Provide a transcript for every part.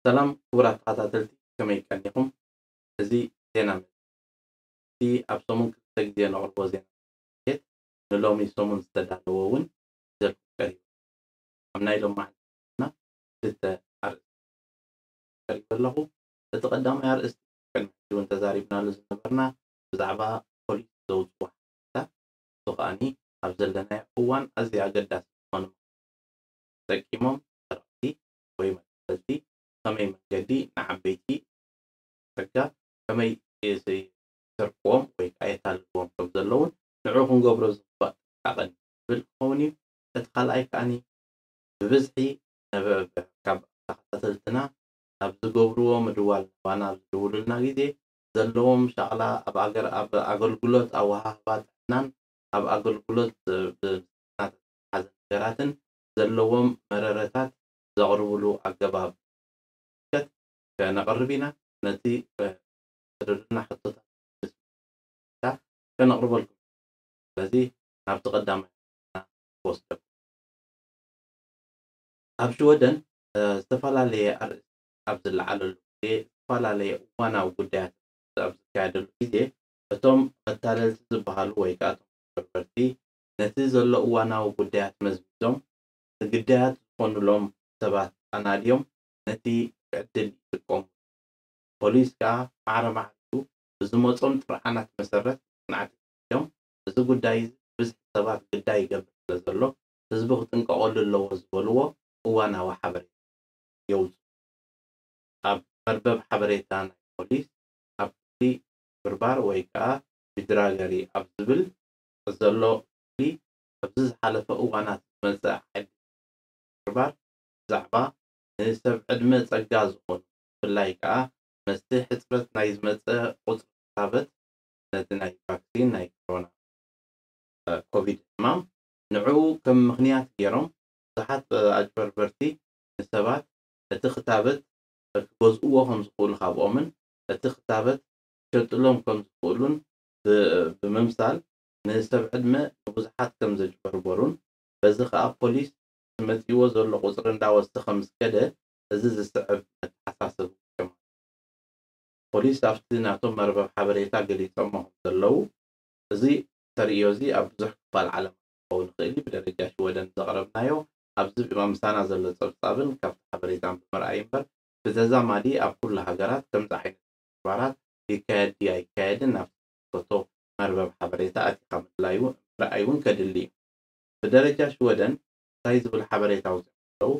ሰላም ክቡራት ተኸታተልቲ፣ ከመይ ቀኒኹም? እዚ ዜና መጽሔት እቲ ኣብ ሰሙን ክልተ ግዜ ነቕርቦ ዜና መጽሔት ንሎሚ ሰሙን ዝተዳለወ እውን ሒዘልኩም ቀሪቡ። ኣብ ናይ ሎማዕንቲ ዜና ክልተ ኣርእስቲ ቀሪቡ ኣለኹ። እቲ ቀዳማይ ኣርእስቲ ቅድሚ ሕጂ እውን ተዛሪብናሉ ዝነበርና ብዛዕባ ፖሊስ ዘውፅዎ ሓበሬታ፣ እሱ ከኣኒ ኣብ ዘለናዮ እዋን ኣዝዩ ኣገዳሲ ዝኾነ ተጠቂሞም ሰረቕቲ ወይ መቃጸልቲ ብኸመይ መንገዲ ንዓበይቲ ጸጋ ከመይ ይስ-፣ ይሰርቅዎም ወይ ከዓ የታልልዎም ከም ዘለውን ንዕኡ ክንገብሮ ዝግባእ ጥንቃቐን ዝብል ክኸውን እዩ። እቲ ካልኣይ ከኣኒ ብብዝሒ ነበ-፣ ካብ ተኸታተልትና ኣብ ዝገብርዎ ምድዋል ናባና ኣብ ዝድውሉልና ግዜ ዘለዎም ሻቕላ ኣብ ኣገር-፣ ኣብ ኣገልግሎት ኣወሃህባ ጥዕናን ኣብ ኣገልግሎት ብ-፣ ብዝተሓሓዘ ነገራትን ዘለዎም መረረታት ዘቕርብሉ ኣገባብ ከነቕርብ ኢና። ነቲ፣ እ፣ ዝድርና ሕቶታት ከነቕርበልኩም። ስለዚ ናብቲ ቀዳማይ ክወስደኩም። ኣብ ሽወደን፣ እ፣ ዝተፈላለየ ኣርእስቲ ኣብ ዝለዓለሉ ግዜ፣ ዝተፈላለየ እዋናዊ ጉዳያት ኣብ ዝካየደሉ ግዜ፣ እቶም መታለልቲ ዝበሃሉ ወይ ከዓ እቶም መጭበርበርቲ ነቲ ዘሎ እዋናዊ ጉዳያት መዝሚዞም ንግዳያት ዝኾኑሎም ሰባት ኣናድዮም ነቲ ዕድል ይጥቀሙ። ፖሊስ ከዓ ማዕረ ማዕሪኡ ብዝመጾም ጥርዓናት መሰረት መጽናዕቲ እዮም። እዚ ጉዳይ እዚ ብዝሒ ሰባት ግዳይ ይገብር ስለ ዘሎ ህዝቢ ክጥንቀቐሉ ኣለዎ ዝበልዎ እዋናዊ ሓበሬታ የውፅኡ። ኣብ መርበብ ሓበሬታ ናይ ፖሊስ ኣብ ክፍሊ ምጭብርባር ወይ ከዓ ቢድራገሪ ኣብ ዝብል ዘሎ ክፍሊ ኣብዚ ዝሓለፈ እዋናት ዝመፀ ዓዲ ምጭብርባር ብዛዕባ ንሰብ ዕድመ ጸጋ ዝኾኑ ብፍላይ ከዓ መስቲ ሕፅረት ናይ ዝመፀ ቁፅሪ ክታበት ነቲ ናይ ቫክሲን ናይ ኮሮና ኮቪድ ሕማም ንዕኡ ከም ምኽንያት ገይሮም ብዙሓት ኣጭበርበርቲ ንሰባት እቲ ክታበት ክገዝእዎ ከም ዝኽእሉ ካብኦምን እቲ ክታበት ክሸጥሎም ከም ዝኽእሉን ብ-፣ ብምምሳል ንሰብ ዕድመ ንብዙሓት ከም ዘጭበርበሩን በዚ ከዓ ፖሊስ መፂዎ ዘሎ ቁፅሪ እንዳወሰኸ ምስ ከደ እዚ ዝስዕብ መተሓሳሰቢ ገይሮም። ፖሊስ ኣብቲ ናቶም መርበብ ሓበሬታ ገሊፆሞ ከም ዘለዉ፣ እዚ ተርእዮ እዚ ኣብ ብዙሕ ክፋል ዓለም ክኸውን ይኽእል እዩ። ብደረጃ ሽወደን ዘቕረብናዮ ኣብዚ ምሳና ዘሎ ፀብፃብን ካብቲ ሓበሬታን ብምርኣይ እምበር፣ ብተዛማዲ ኣብ ኩሉ ሃገራት ከምዚ ዓይነት ተግባራት ይካየድ ድዩ ኣይካየድን ናብቲ ዝምልከቶ መርበብ ሓበሬታ ኣቲኻ ምድላዩ ምርኣይ እውን ከድሊ እዩ። ብደረጃ ሽወደን እንታይ ዝብል ሓበሬታ ኣውፂኦም ኣለዉ?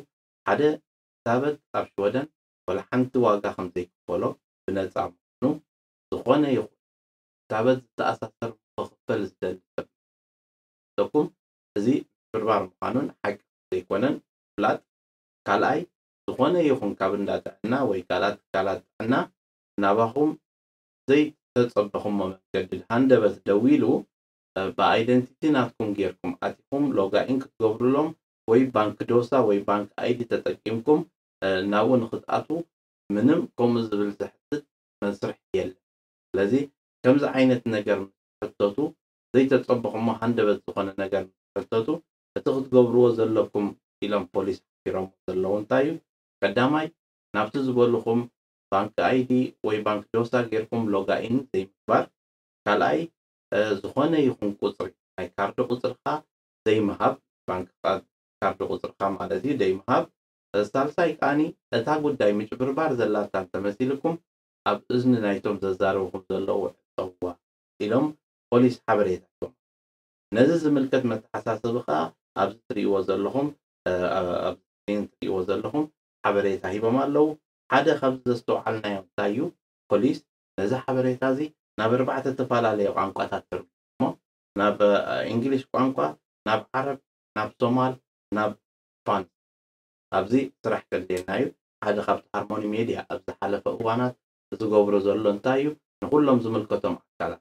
ሓደ ክታበት ኣብ ሽወደን ዋላ ሓንቲ ዋጋ ከም ዘይክፈሎ ብነፃ ምዃኑ፣ ዝኾነ ይኹን ክታበት ዝተኣሳሰር ክኽፈል ዝደሊ ሰብ ይመስለኩም። እዚ ምጭብርባር ምዃኑን ሓቂ ዘይኮነን ምፍላጥ። ካልኣይ፣ ዝኾነ ይኹን ካብ እንዳ ጥዕና ወይ ካልኣት ትካላት ጥዕና ናባኹም ዘይተጸበኹሞ መንገዲ ሃንደበት ደዊሉ፣ እ፣ ብኣይደንቲቲ ናትኩም ጌርኩም ኣቲኹም ሎጋኢን ክትገብሩሎም ወይ ባንክ ዶሳ ወይ ባንክ ኣይዲ ተጠቂምኩም፣ እ፣ ናብኡ ንኽትኣትዉ ምንም ከምኡ ዝብል ዘሕትት መስርሕ የለን። ስለዚ ከምዚ ዓይነት ነገር ምስ ትሕተቱ፣ ዘይተጸበኹሞ ሃንደበት ዝኾነ ነገር ምስ ትሕተቱ፣ እቲ ክትገብርዎ ዘለኩም ኢሎም ፖሊስ ሓቢሮምዎ ዘለዉ እንታይ እዩ? ቀዳማይ፣ ናብቲ ዝበልኹም ባንክ ኣይዲ ወይ ባንክ ዶሳ ጌርኩም ሎጋኢን ዘይምግባር። ካልኣይ፣ እ፣ ዝኾነ ይኹን ቁጽሪ፣ ናይ ካርዲ ቁጽርኻ ዘይምሃብ፣ ባንክ ካ-፣ ካርዲ ቁጽርኻ ማለት እዩ፣ ዘይምሃብ። እ፣ ሳልሳይ ከኣኒ፣ እታ ጉዳይ ምጭብርባር ዘላታ እንተመሲልኩም፣ ኣብ እዝኒ ናይቶም ዘዛርብኹም ዘለዉ ዕጸውዋ ኢሎም ፖሊስ ሓበሬታ ሂቦም። ነዚ ዝምልከት መተሓሳሰቢ ከኣ ኣብዚ ትርእይዎ ዘለኹም፣ እ፣ ኣብ ስክሪን ትርእይዎ ዘለኹም ሓበሬታ ሂቦም ኣለዉ። ሓደ ካብዚ ዘስተውዓልናዮ እንታይ እዩ? ፖሊስ ነዚ ሓበሬታ እዚ ናብ ኣርባዕተ ዝተፈላለየ ቋንቋታት ተርጉሞ፣ ናብ፣ እ፣ እንግሊሽ ቋንቋ፣ ናብ ዓረብ፣ ናብ ሶማል፣ ናብ ስፓንሽ። ኣብዚ ስራሕ ከድልየና እዩ። ሓደ ካብቲ ሃርሞኒ ሜድያ ኣብ ዝሓለፈ እዋናት ዝገብሮ ዘሎ እንታይ እዩ? ንኹሎም ዝምልከቶም ኣካላት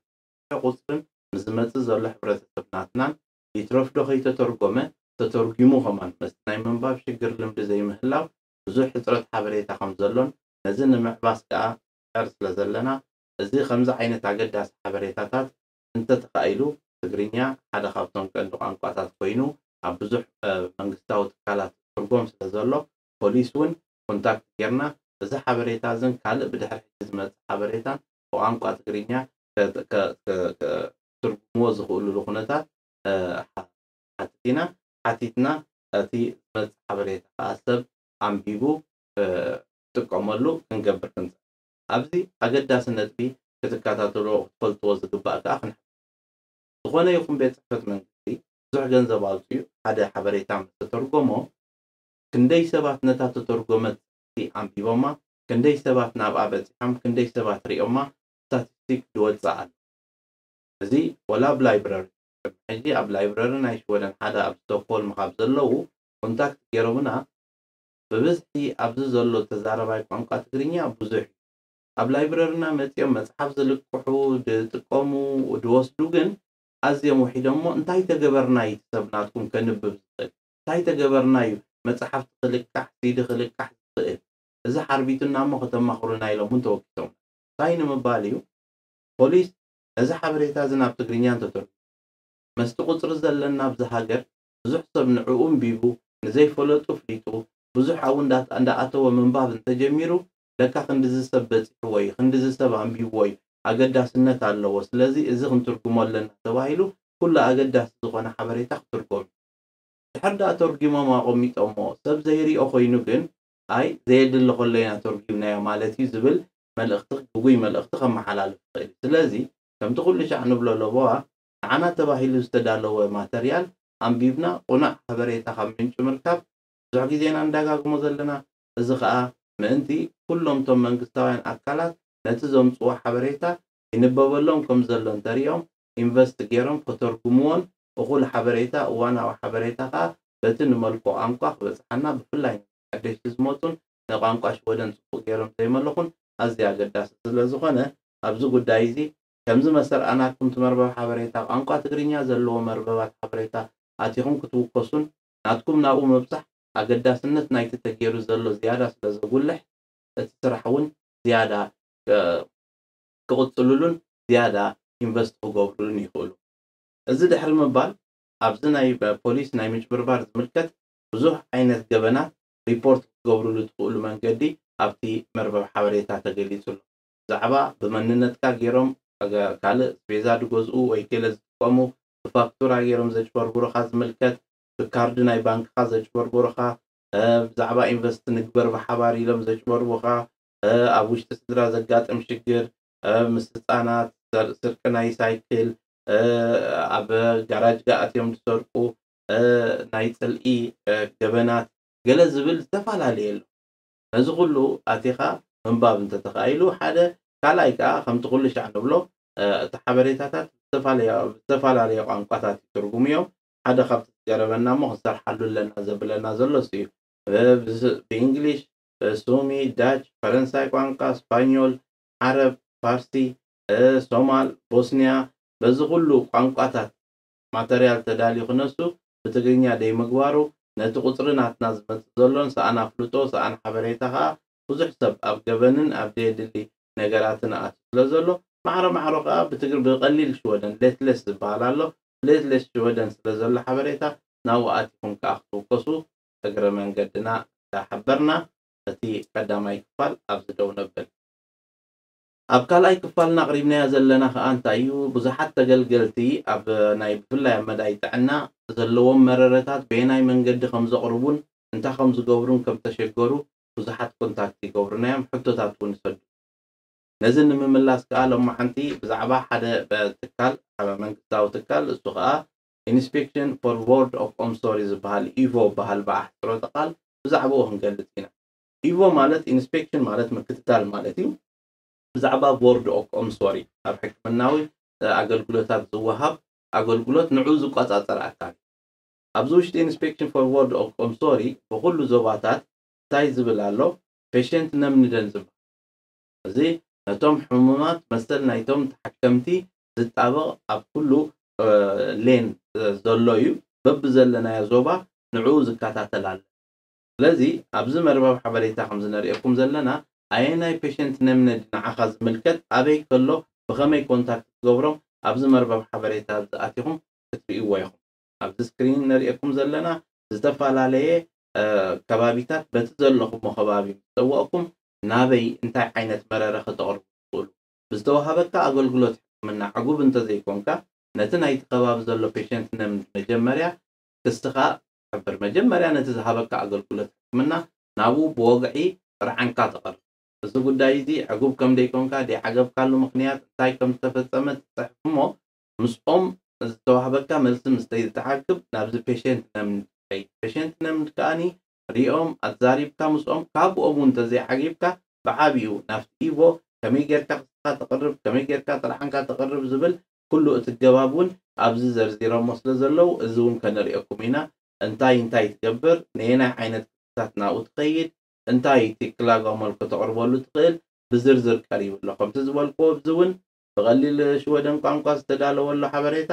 ቁጽርን ንዝመጽእ ዘሎ ሕብረተሰብ ናትናን ይትረፍዶ ከይተተርጎመ ተተርጉሙ ከማን መስቲ ናይ ምንባብ ሽግር ልምዲ ዘይምህላው ብዙሕ ሕጽረት ሓበሬታ ከም ዘሎን ነዚ ንምዕባስ ከኣ ንጽዕር ስለ ዘለና እዚ ከምዚ ዓይነት ኣገዳሲ ሓበሬታታት እንተተኻኢሉ ትግርኛ ሓደ ካብቶም ቀንዲ ቋንቋታት ኮይኑ ኣብ ብዙሕ፣ እ፣ መንግስታዊ ትካላት ትርጎም ስለ ዘሎ ፖሊስ እውን ኮንታክት ጌርና እዚ ሓበሬታ እዝን ካልእ ብድሕሪ ሕጂ ዝመጽእ ሓበሬታን ብቋንቋ ትግርኛ ከ- ከ- ከ- ከ- ክትርጉምዎ ዝኽእሉሉ ኩነታት እ፣ ሓ- ሓቲት ኢና። ሓቲትና እቲ ዝመጽእ ሓበሬታ ከዓ ሰብ ኣንቢቡ እ፣ ክጥቀመሉ ክንገብር ክንጽ ኣብዚ ኣገዳሲ ነጥቢ ክትከታተልዎ ክትፈልጥዎ ዝግባእ ከዓ ክንሕ ዝኾነ ይኹን ቤት ጽሕፈት መንግስቲ ብዙሕ ገንዘብ ኣውፅኡ ሓደ ሓበሬታ ምስ ተተርጎሞ ክንደይ ሰባት ነታ ተተርጎመት ኣንቢቦማ፣ ክንደይ ሰባት ናብኣ በፂሖም፣ ክንደይ ሰባት ሪኦማ ስታቲስቲክ ዝወፅእ ኣሎ። እዚ ወላ ኣብ ላይብረሪ ሕጂ ኣብ ላይብረሪ ናይ ሽወደን ሓደ ኣብ ስቶክሆልም ካብ ዘለዉ ኮንታክት ገይሮምና ብብዝሒ ኣብዚ ዘሎ ተዛረባይ ቋንቋ ትግርኛ ብዙሕ እዩ። ኣብ ላይብረርና መፂኦም መፅሓፍ ዝልቅሑ ዝጥቀሙ ዝወስዱ ግን ኣዝዮም ውሒዶሞ እንታይ ተገበርና እዩ እቲ ሰብ ናትኩም ከንብብ ዝኽእል እንታይ ተገበርና እዩ መፅሓፍቲ ክልቃሕ ሲዲ ክልቃሕ ዝኽእል እዚ ሓርቢቱና እሞ ከተማኽሩና ኢሎም እውን ተወኪሶም እንታይ ንምባል እዩ ፖሊስ ነዚ ሓበሬታ እዚ ናብ ትግርኛ እንተተርጉ መስቲ ቁፅሪ ዘለና ኣብዚ ሃገር ብዙሕ ሰብ ንዕኡ እንቢቡ ንዘይፈለጡ ፍሊጡ ብዙሕ ኣብኡ እንዳኣተወ ምንባብ እንተጀሚሩ ለካ ክንድዚ ሰብ በፂሕዎ እዩ ክንድዚ ሰብ ኣንቢብዎ እዩ ኣገዳስነት ኣለዎ ስለዚ እዚ ክንትርጉሞ ኣለና ተባሂሉ ኩሉ ኣገዳሲ ዝኾነ ሓበሬታ ክትርጎም እዩ ድሕር ዳኣ ተርጉሞም ኣቐሚጦሞ ሰብ ዘይሪኦ ኮይኑ ግን ኣይ ዘየድሊ ከሎ ኢና ተርጉምናዮ ማለት እዩ ዝብል መልእኽቲ ግጉይ መልእኽቲ ከመሓላልፍ ይኽእል እዩ ስለዚ ከምቲ ኩሉ ሻዕ ንብሎ ለበዋ ንዓና ተባሂሉ ዝተዳለወ ማተርያል ኣንቢብና ቁኑዕ ሓበሬታ ካብ ምንጪ ምርካብ ብዙሕ ግዜና ንደጋግሞ ዘለና እዚ ኸኣ ምእንቲ ኩሎም እቶም መንግስታውያን ኣካላት ነቲ ዘምጽዎ ሓበሬታ ይንበበሎም ከም ዘሎ እንተሪኦም ኢንቨስት ገይሮም ከተርጉምዎን እኹል ሓበሬታ እዋናዊ ሓበሬታ ኸኣ በቲ ንመልኮ ቋንቋ ክበጽሓና ብፍላይ ሓደሽቲ ዝመጹን ንቋንቋ ሽወደን ጽቡቕ ገይሮም ዘይመለኹን ኣዝዩ ኣገዳሲ ስለ ዝኾነ ኣብዚ ጉዳይ እዚ ከምዚ መሰል ኣናኩም ትመርበብ ሓበሬታ ቋንቋ ትግርኛ ዘለዎ መርበባት ሓበሬታ ኣቲኹም ክትውከሱን ናትኩም ናብኡ ምብጻሕ ኣገዳስነት ናይቲ ተገይሩ ዘሎ ዝያዳ ስለ ዘጉልሕ እቲ ስራሕ እውን ዝያዳ ክቕፅሉሉን ዝያዳ ኢንቨስት ክገብሩሉን ይኽእሉ። እዚ ድሕሪ ምባል ኣብዚ ናይ ፖሊስ ናይ ምጭብርባር ዝምልከት ብዙሕ ዓይነት ገበናት ሪፖርት ክትገብሩሉ ትኽእሉ መንገዲ ኣብቲ መርበብ ሓበሬታ ተገሊጹ ኣሎ። ብዛዕባ ብመንነትካ ገይሮም ካልእ ኣስቤዛ ዝገዝኡ ወይ ገለ ዝጥቀሙ ብፋክቱራ ገይሮም ዘጭበርብሩኻ ዝምልከት፣ ብካርድ ናይ ባንክኻ ዘጭበርብሩኻ፣ ብዛዕባ ኢንቨስት ንግበር ብሓባር ኢሎም ዘጭበርቡኻ፣ ኣብ ውሽጢ ስድራ ዘጋጥም ሽግር፣ ምስ ህፃናት ስርቂ ናይ ሳይክል፣ ኣብ ጋራጅ ኣትዮም ዝሰርቁ፣ ናይ ፅልኢ ገበናት ገለ ዝብል ዝተፈላለየ ኣሎ። ነዚ ኩሉ ኣቲኻ ምንባብ እንተተኻኢሉ ሓደ፣ ካልኣይ ከዓ ከምቲ ኩሉ ሻዕ ንብሎ እቲ ሓበሬታታት ዝተፈላለየ ቋንቋታት ይትርጉሙ እዮም። ሓደ ካብቲ ዝገረመና እሞ ክንሰርሓሉ ኣለና ዘብለና ዘሎ እሱ እዩ። ብእንግሊሽ፣ ሱሚ፣ ዳች፣ ፈረንሳይ ቋንቋ፣ ስፓኞል፣ ዓረብ፣ ፋርሲ፣ ሶማል፣ ቦስኒያ በዚ ኩሉ ቋንቋታት ማተርያል ተዳልዩ ክነሱ ብትግርኛ ደይምግባሩ ነቲ ቁፅሪ ናትና ዝመፅእ ዘሎን ሰኣን ኣፍልጦ ሰኣን ሓበሬታ ከዓ ብዙሕ ሰብ ኣብ ገበንን ኣብ ዘየድሊ ነገራትን ኣትዩ ስለ ዘሎ ማዕረ ማዕሮ ከዓ ብትግር ብቀሊል ሽወደን ሌትለስ ዝበሃል ኣሎ ሌትለስ ሽወደን ስለ ዘሎ ሓበሬታ ናብኡ ኣቲኹም ከዓ ክትውከሱ እግረ መንገድና እንዳሓበርና እቲ ቀዳማይ ክፋል ኣብዚ ደው ነብል። ኣብ ካልኣይ ክፋልና ኣቕሪብናዮ ዘለና ከኣ እንታይ እዩ? ብዙሓት ተገልገልቲ ኣብ ናይ ብፍላይ ኣብ መዳይ ጥዕና ዘለዎም መረረታት በየናይ መንገዲ ከም ዘቕርቡን እንታይ ከም ዝገብሩን ከም ተሸገሩ ብዙሓት ኮንታክት ይገብሩና እዮም፣ ሕቶታት እውን ይሰዱ። ነዚ ንምምላስ ከኣ ሎማዓንቲ ብዛዕባ ሓደ ትካል፣ ሓደ መንግስታዊ ትካል፣ እሱ ከኣ ኢንስፔክሽን ፎር ዎርድ ኦፍ ኦምሶሪ ዝበሃል ኢቮ ዝበሃል ብኣሕፅሮተ ቃል ብዛዕባኡ ክንገልፅ ኢና። ኢቮ ማለት ኢንስፔክሽን ማለት ምክትታል ማለት እዩ። ብዛዕባ ቦርድ ኦፍ ኦምሶሪ ኣብ ሕክምናዊ ኣገልግሎታት ዝወሃብ ኣገልግሎት ንዑ ዝቆፃፀር ኣካል እዩ። ኣብዚ ውሽጢ ኢንስፔክሽን ፎር ቦርድ ኦፍ ኦምሶሪ ብኩሉ ዞባታት እንታይ ዝብል ኣሎ? ፔሸንት ነምንደን ዝበሃል እዚ ነቶም ሕሙማት መሰል ናይቶም ተሓከምቲ ዝጣበቕ ኣብ ኩሉ ሌን ዘሎ እዩ። በብዘለናዮ ዞባ ንዕኡ ዝከታተል ኣሎ። ስለዚ ኣብዚ መርበብ ሓበሬታ ከም ዝነርእየኩም ዘለና ኣየናይ ፔሸንት ነምነድ ንዓኻ ዝምልከት ኣበይ ከሎ ብኸመይ ኮንታክት ክትገብሮም ኣብዚ መርበብ ሓበሬታ ዝኣቲኹም ክትርእይዎ ኢኹም። ኣብዚ ስክሪን ነርእየኩም ዘለና ዝተፈላለየ ከባቢታት በቲ ዘለኹሞ ከባቢ ምስ ፀወቕኩም ናበይ እንታይ ዓይነት መረረ ከተቕርቡ ትኽእሉ? ብዝተዋሃበካ ኣገልግሎት ሕክምና ዕጉብ እንተዘይኮንካ፣ ነቲ ናይቲ ከባቢ ዘሎ ፔሸንት ነምድ መጀመርያ ክስኻ ትሕብር። መጀመርያ ነቲ ዝሃበካ ኣገልግሎት ሕክምና ናብኡ ብወግዒ ጥርዓንካ ተቕርብ። እዚ ጉዳይ እዚ ዕጉብ ከም ደይኮንካ፣ ደይዓገብካሉ ምኽንያት እንታይ ከም ዝተፈጸመ ትጽሕፍ እሞ፣ ምስኦም ዝተዋህበካ መልሲ ምስ ዘይተዓግብ ናብዚ ፔሸንት ነምድ ትኸይድ። ፔሸንት ነምድ ከኣኒ ሪኦም ኣዛሪብካ ምስኦም፣ ካብኦም እውን እንተዘይዓጊብካ ብዓቢኡ ናብቲ ኢቮ ከመይ ጌርካ ክስኻ ተቕርብ፣ ከመይ ጌርካ ጥርዓንካ ተቕርብ ዝብል ኩሉ እቲ ገባብ እውን ኣብዚ ዘርዚሮሞ ስለ ዘለዉ፣ እዚ እውን ከነርእየኩም ኢና። እንታይ እንታይ ትገብር፣ ነየናይ ዓይነት ክስታት ናብኡ ትኸይድ፣ እንታይ እቲ ክላጋሞል ከተቕርበሉ ትኽእል ብዝርዝር ቀሪቡ ኣሎ። ከምቲ ዝበልክዎ ኣብዚ እውን ብቐሊል ሽወደን ቋንቋ ዝተዳለወ ኣሎ ሓበሬታ፣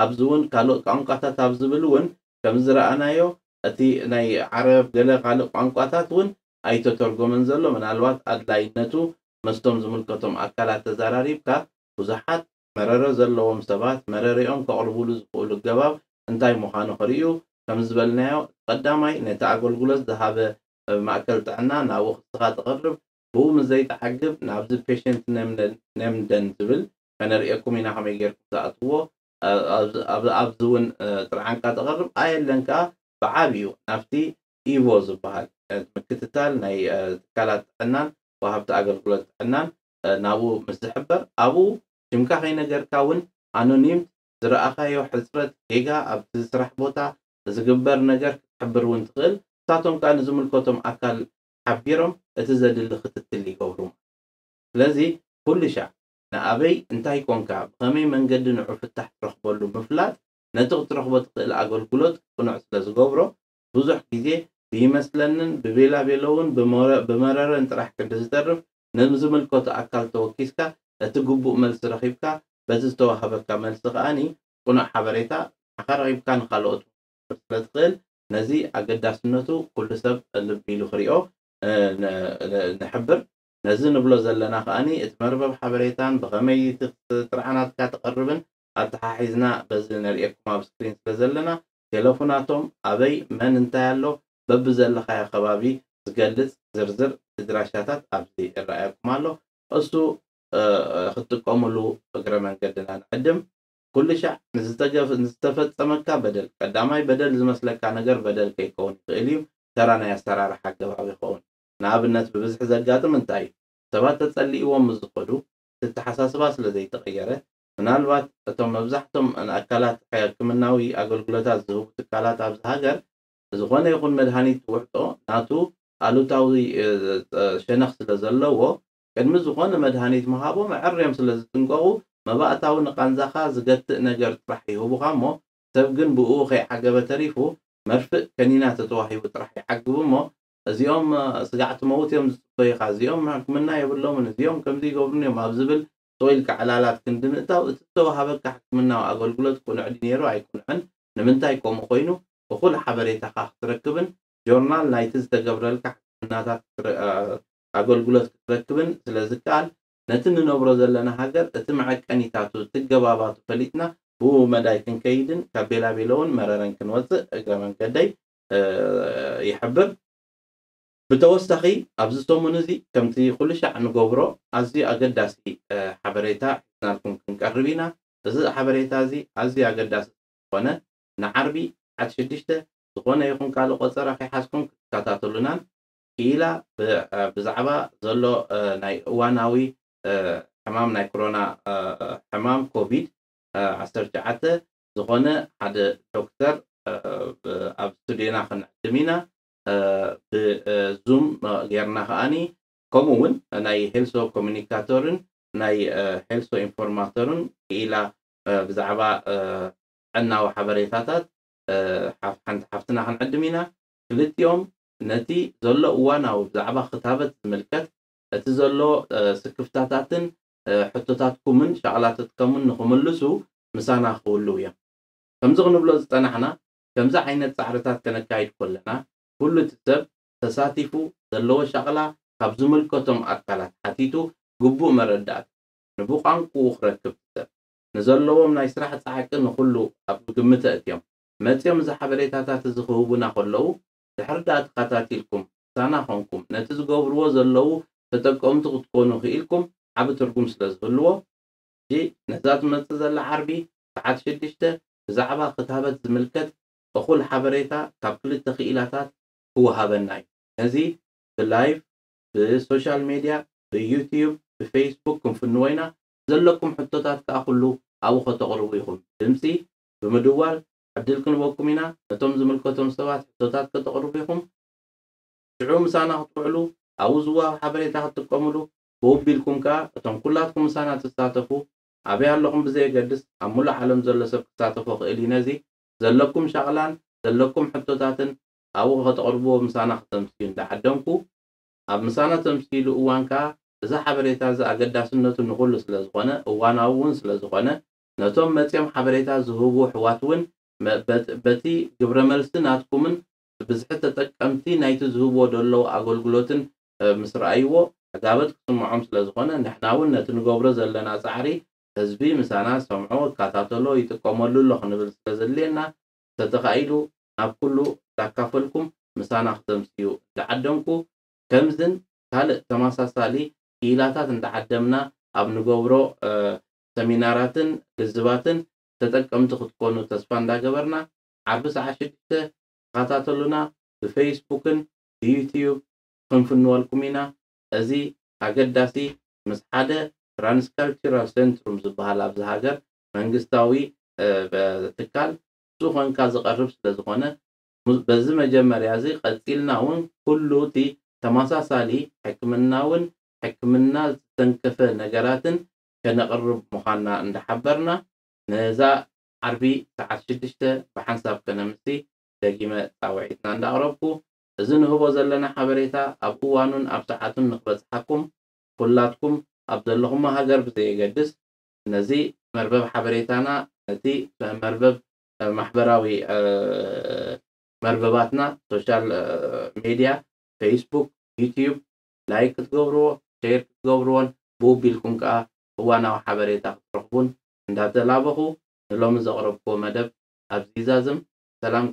ኣብዚ እውን ካልእ ቋንቋታት ኣብ ዝብል እውን ከም ዝረኣናዮ፣ እቲ ናይ ዓረብ ገለ ካልእ ቋንቋታት እውን ኣይተተርጎመን ዘሎ። ምናልባት ኣድላይነቱ መስቶም ዝምልከቶም ኣካላት ተዘራሪብካ፣ ብዙሓት መረረ ዘለዎም ሰባት መረረኦም ከቕርቡሉ ዝኽእሉ ኣገባብ እንታይ ምዃኑ ክርእዩ፣ ከም ዝበልናዮ፣ ቀዳማይ ነቲ ኣገልግሎት ዝሃበ ማእከል ጥዕና ናብኡ ክስኻ ተቕርብ፣ ብኡ ምስ ዘይትዓግብ ናብዚ ፔሸንት ነምደን ዝብል ከነርእየኩም ኢና ከመይ ጌርኩም ትኣትዎ። ኣብዚ እውን ጥርዓንካ ተቕርብ ኣየለን ከኣ ብዓብዩ ናብቲ ኢቮ ዝበሃል ምክትታል ናይ ትካላት ጥዕናን ወሃብቲ ኣገልግሎት ጥዕናን ናብኡ ምስ ዝሕበር ኣብኡ ሽምካ ከይነገርካ እውን ኣኖኒምት ዝረኣኻዮ ሕጽረት ጌጋ ኣብቲ ስራሕ ቦታ ዝግበር ነገር ክትሕብር እውን ትኽእል። ንሳቶም ከኣ ንዝምልከቶም ኣካል ሓቢሮም እቲ ዘድሊ ክትትል ይገብሩ። ስለዚ ኩሉ ሻዕ ንኣበይ እንታይ ኮንካ ብኸመይ መንገዲ ንዑ ፍታሕ ትረኽበሉ ምፍላጥ ነቲ ክትረኽቦ ትኽእል ኣገልግሎት ቅኑዕ ስለ ዝገብሮ ብዙሕ ግዜ ብይመስለንን ብቤላ ቤለውን ብመረረን ጥራሕ ቅዲ ዝተርፍ ንዝምልከቶ ኣካል ተወኪስካ እቲ ግቡእ መልሲ ረኺብካ በቲ ዝተዋህበካ መልሲ ከኣኒ ቅኑዕ ሓበሬታ ንዓኻ ረኺብካ ንኻልኦት ስለ ትኽእል ነዚ ኣገዳስነቱ ኩሉ ሰብ ልቢ ኢሉ ክሪኦ ንሕብር። ነዚ ንብሎ ዘለና ከኣኒ እቲ መርበብ ሓበሬታን ብኸመይ ጥርዓናትካ ትቐርብን ኣተሓሒዝና በዚ ነርእየኩም ኣብ ስክሪን ስለ ዘለና ቴለፎናቶም ኣበይ መን እንታይ ኣሎ በብዘለኻዮ ከባቢ ዝገልጽ ዝርዝር ድራሻታት ኣብዚ ይረኣየኩም ኣሎ። እሱ ክትጥቀሙሉ እግረ መንገድና ንዕድም። ኩሉ ሻዕ ንዝተፈጸመካ በደል ቀዳማይ በደል ዝመስለካ ነገር በደል ከይከውን ይኽእል እዩ። ተራ ናይ ኣሰራርሓ ኣገባብ ይኸውን። ንኣብነት ብብዝሒ ዘጋጥም እንታይ እዩ? ሰባት ተጸሊእዎም ምስ ዝኸዱ እቲ ኣተሓሳስባ ስለ ዘይተቐየረ ምናልባት እቶም መብዛሕቶም ኣካላት ሕክምናዊ ኣገልግሎታት ዝህቡ ትካላት ኣብዚ ሃገር ዝኾነ ይኹን መድሃኒት ዝውሕጦ ናቱ ኣሉታዊ ሸነኽ ስለ ዘለዎ ቅድሚ ዝኾነ መድሃኒት ምሃቦም ኣዐርዮም ስለ ዝጥንቀቑ መባእታዊ ንቓንዛኻ ዝገትእ ነገር ጥራሕ ይህቡኻ እሞ ሰብ ግን ብእኡ ከይዓገበ ተሪፉ መርፍእ ከኒና ተተዋሂቡ ጥራሕ ይዓግቡ እሞ እዚኦም ስጋዕ ትመውት እዮም ዝፅበዩኻ፣ እዚኦም ሕክምና የብሎምን፣ እዚኦም ከምዚ ይገብሩን እዮም ኣብ ዝብል ስቕ ኢልካ ዕላላት ክንዲ ምእታው እቲ ዝተዋሃበካ ሕክምናዊ ኣገልግሎት ቅኑዕ ድዩ ነይሩ ኣይቅኑዕን፣ ንምንታይ ከምኡ ኮይኑ እኹል ሓበሬታኻ ክትረክብን ጆርናል ናይቲ ዝተገብረልካ ሕክምናታት ኣገልግሎት ክትረክብን ስለ ዝከኣል ነቲ ንነብሮ ዘለና ሃገር እቲ መዐቀኒታቱ እቲ ገባባቱ ፈሊጥና ብኡ መዳይ ክንከይድን ካብ ቤላቤሎ እውን መረረን ክንወፅእ እግረ መንገደይ ይሕብር። ብተወሳኺ ኣብዚ ሰሙን እዚ ከምቲ ኩሉ ሻዕ ንገብሮ ኣዝዩ ኣገዳሲ ሓበሬታ ሒዝናልኩም ክንቀርብ ኢና። እዚ ሓበሬታ እዚ ኣዝዩ ኣገዳሲ ዝኾነ ንዓርቢ ዓት ሽዱሽተ ዝኾነ ይኹን ካልእ ቆፀራ ከይሓዝኩም ክትከታተሉናን ክኢላ ብዛዕባ ዘሎ ናይ እዋናዊ ሕማም ናይ ኮሮና ሕማም ኮቪድ ዓሰርተ ትሽዓተ ዝኾነ ሓደ ዶክተር ኣብ ስቱዲዮና ክንዕድም ኢና። ብዙም ጌርና ከኣኒ ከምኡ እውን ናይ ሄልሶ ኮሚኒካተርን ናይ ሄልሶ ኢንፎርማተርን ክኢላ ብዛዕባ ጥዕናዊ ሓበሬታታት ሓንቲ ሓፍትና ክንዕድም ኢና። ክልቲኦም ነቲ ዘሎ እዋናዊ ብዛዕባ ክታበት ዝምልከት እቲ ዘሎ ስክፍታታትን ሕቶታትኩምን ሻቕላትትከምን ንክምልሱ ምሳና ክህልው እዮም። ከምዚ ክንብሎ ዝጸናሕና ከምዚ ዓይነት ጻዕርታት ከነካይድ ከለና ኩሉ እቲ ሰብ ተሳቲፉ ዘለዎ ሻቕላ ካብ ዝምልከቶም ኣካላት ሓቲቱ ግቡእ መረዳእታ ንብቋንቁኡ ክረክብ ሰብ ንዘለዎም ናይ ስራሕ ጻዕቂ ንኹሉ ኣብ ግምት ኣእትዮም መጺኦም እዚ ሓበሬታታት እዚ ክህቡና ከለዉ ድሕሪ ደኣ ተኸታቲልኩም ምሳና ኾንኩም ነቲ ዝገብርዎ ዘለዉ ተጠቀምቲ ክትኮኑ ክኢልኩም ዓቢ ትርጉም ስለ ዝህልዎ፣ ሕጂ ነዛ ትመጽእ ዘላ ዓርቢ ሰዓት ሽዱሽተ ብዛዕባ ክታበት ዝምልከት እኹል ሓበሬታ ካብ ክልተ ክኢላታት ክወሃበና እዩ። ነዚ ብላይቭ፣ ብሶሻል ሜድያ፣ ብዩትዩብ፣ ብፌስቡክ ክንፍንዎ ኢና። ዘለኩም ሕቶታት ከኣ ኩሉ ኣብኡ ከተቕርቡ ኢኹም። ድምጺ ብምድዋል ዕድል ክንበኩም ኢና። ነቶም ዝምልከቶም ሰባት ሕቶታት ከተቕርቡ ኢኹም። ሽዑ ምሳና ክትውዕሉ ኣብኡ ዝወሃብ ሓበሬታ ክትጥቀምሉ ብውቢልኩም ከኣ እቶም ኩላትኩም ምሳና ትሳተፉ ኣበይ ኣለኹም ብዘየገድስ ኣብ ሙሉእ ዓለም ዘሎ ሰብ ክሳተፎ ክእል እዩ። ነዚ ዘለኩም ሻቕላን ዘለኩም ሕቶታትን ኣብኡ ከተቕርብዎ ምሳና ክተምስዩ እንዳዓደምኩ ኣብ ምሳና ተምስይሉ እዋን ከኣ እዚ ሓበሬታ እዚ ኣገዳስነቱ ንኹሉ ስለ ዝኾነ እዋናዊ እውን ስለ ዝኾነ ነቶም መጺኦም ሓበሬታ ዝህቡ ኣሕዋት እውን በቲ ግብረ መልሲ ናትኩምን ብብዝሒ ተጠቀምቲ ናይቲ ዝህብዎ ዘለዉ ኣገልግሎትን ምስ ረኣይዎ ዕጋበት ክስምዖም ስለ ዝኾነ ንሕና እውን ነቲ ንገብሮ ዘለና ጻዕሪ ህዝቢ ምሳና ዝሰምዖ ይከታተሎ ይጥቀመሉ ኣሎ ክንብል ስለ ዘድልየና ተተኻኢሉ ናብ ኩሉ እንዳካፈልኩም ምሳና ክተምስዩ እንዳዓደምኩ ከምዝን ካልእ ተመሳሳሊ ክኢላታት እንዳዓደምና ኣብ ንገብሮ ሰሚናራትን ልዝባትን ተጠቀምቲ ክትኮኑ ተስፋ እንዳገበርና ዓርቢ ሰዓት ሽዱሽተ ተኸታተሉና። ብፌስቡክን ብዩትዩብ ክንፍንወልኩም ኢና። እዚ ኣገዳሲ ምስ ሓደ ትራንስካልቸራል ሴንትሩም ዝበሃል ኣብዚ ሃገር መንግስታዊ ትካል ንሱ ኮንካ ዝቐርብ ስለ ዝኾነ በዚ መጀመርያ እዚ ቀጺልና እውን ኩሉ እቲ ተመሳሳሊ ሕክምናውን ሕክምና ዝተንከፈ ነገራትን ከነቕርብ ምዃንና እንዳሓበርና ነዛ ዓርቢ ሰዓት ሽዱሽተ ብሓንሳብ ከነምሲ ደጊመ ጻውዒትና እንዳቕረብኩ እዚ ንህቦ ዘለና ሓበሬታ ኣብ እዋኑን ኣብ ሰዓቱን ንክበጽሓኩም ኩላትኩም ኣብ ዘለኹሞ ሃገር ብዘየገድስ ነዚ መርበብ ሓበሬታና ነቲ መርበብ ማሕበራዊ መርበባትና ሶሻል ሜድያ ፌስቡክ፣ ዩትዩብ ላይክ ክትገብርዎ ሼር ክትገብርዎን ብውቢልኩም ከዓ እዋናዊ ሓበሬታ ክትረኽቡን እንዳተላበኹ ንሎሚ ዘቕረብክዎ መደብ ኣብዚ ይዛዝም። ሰላም